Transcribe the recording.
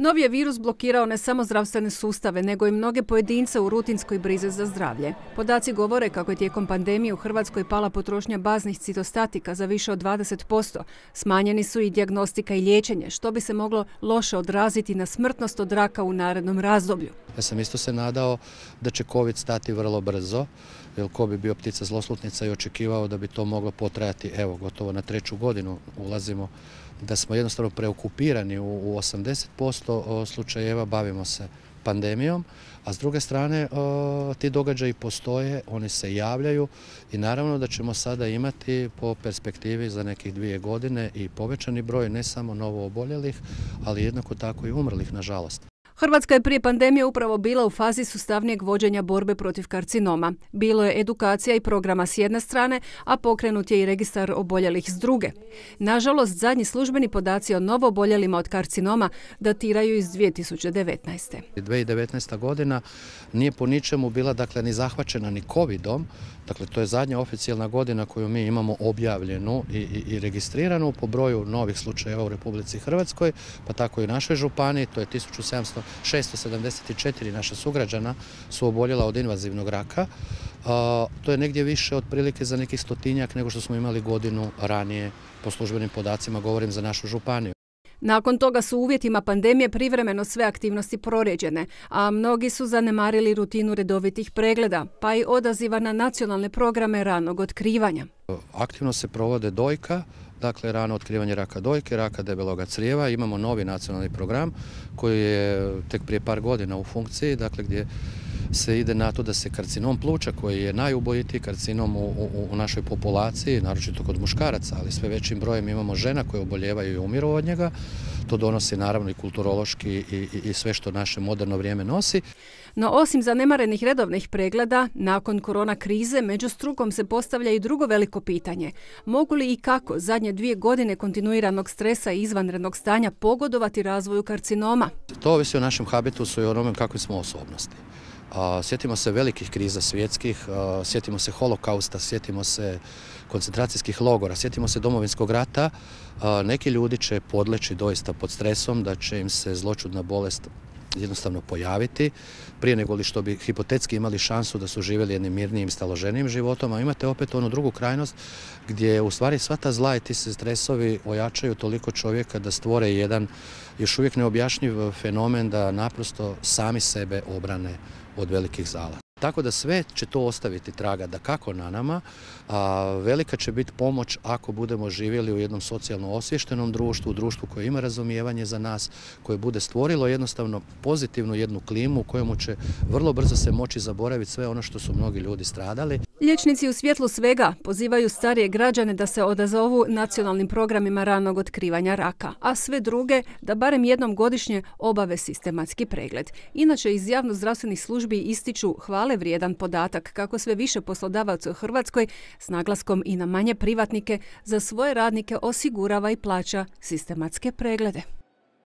Novi je virus blokirao ne samo zdravstvene sustave, nego i mnoge pojedince u rutinskoj brizi za zdravlje. Podaci govore kako je tijekom pandemije u Hrvatskoj pala potrošnja baznih citostatika za više od 20%. Smanjeni su i dijagnostika i liječenje, što bi se moglo loše odraziti na smrtnost od raka u narednom razdoblju. Ja sam isto se nadao da će COVID stati vrlo brzo, jer ko bi bio ptica zloslutnica i očekivao da bi to moglo potrajati, evo, gotovo na 3. godinu ulazimo, da smo jednostavno preokupirani u 80% slučajeva, bavimo se pandemijom, a s druge strane ti događaji postoje, oni se javljaju i naravno da ćemo sada imati po perspektivi za nekih 2 godine i povećani broj ne samo novo oboljelih, ali jednako tako i umrlih, nažalost. Hrvatska je prije pandemije upravo bila u fazi sustavnijeg vođenja borbe protiv karcinoma. Bilo je edukacija i programa s jedne strane, a pokrenut je i registar oboljelih s druge. Nažalost, zadnji službeni podaci o novo oboljelima od karcinoma datiraju iz 2019. 2019. godina nije po ničemu bila ni zahvaćena ni COVID-om. Dakle, to je zadnja oficijalna godina koju mi imamo objavljenu i registriranu po broju novih slučajeva u Republici Hrvatskoj, pa tako i u našoj županiji, to je 674 naša sugrađana su oboljela od invazivnog raka. To je negdje više otprilike za nekih 100-tinjak nego što smo imali godinu ranije po službenim podacima, govorim za našu županiju. Nakon toga su u uvjetima pandemije privremeno sve aktivnosti prorijeđene, a mnogi su zanemarili rutinu redovitih pregleda, pa i odaziva na nacionalne programe ranog otkrivanja. Aktivno se provode dojka, dakle rano otkrivanje raka dojke, raka debeloga crijeva. Imamo novi nacionalni program koji je tek prije par godina u funkciji, dakle gdje se ide na to da se karcinom pluća, koji je najubojitiji karcinom u našoj populaciji, naročito kod muškaraca, ali sve većim brojem imamo žena koje oboljevaju i umiru od njega. To donosi naravno i kulturološki i sve što naše moderno vrijeme nosi. No osim zanemarenih redovnih pregleda, nakon korona krize među strukom se postavlja i drugo veliko pitanje. Mogu li i kako zadnje 2 godine kontinuiranog stresa i izvanrednog stanja pogodovati razvoju karcinoma? To ovisi o našem habitusu i o onome kakve smo osobnosti. Sjetimo se velikih kriza svjetskih, sjetimo se holokausta, sjetimo se koncentracijskih logora, sjetimo se Domovinskog rata. Neki ljudi će podleći doista pod stresom da će im se zloćudna bolest jednostavno pojaviti prije nego li što bi hipotetski imali šansu da su živjeli jednim mirnijim, staloženijim životom, a imate opet onu drugu krajnost gdje u stvari sva ta zla i ti se stresovi ojačaju toliko čovjeka da stvore jedan još uvijek neobjašnjiv fenomen da naprosto sami sebe obrane od velikih zala. Tako da sve će to ostaviti traga dakako na nama, a velika će biti pomoć ako budemo živjeli u jednom socijalno osviještenom društvu, u društvu koje ima razumijevanje za nas, koje bude stvorilo jednostavno pozitivnu jednu klimu u kojemu će vrlo brzo se moći zaboraviti sve ono što su mnogi ljudi stradali. Liječnici u svjetlu svega pozivaju starije građane da se odazovu nacionalnim programima ranog otkrivanja raka, a sve druge da barem jednom godišnje obave sistematski pregled. Inače, iz javnozdravstvenih službi ističu hvale vrijedan podatak kako sve više poslodavaca u Hrvatskoj s naglaskom i na manje privatnike za svoje radnike osigurava i plaća sistematske preglede.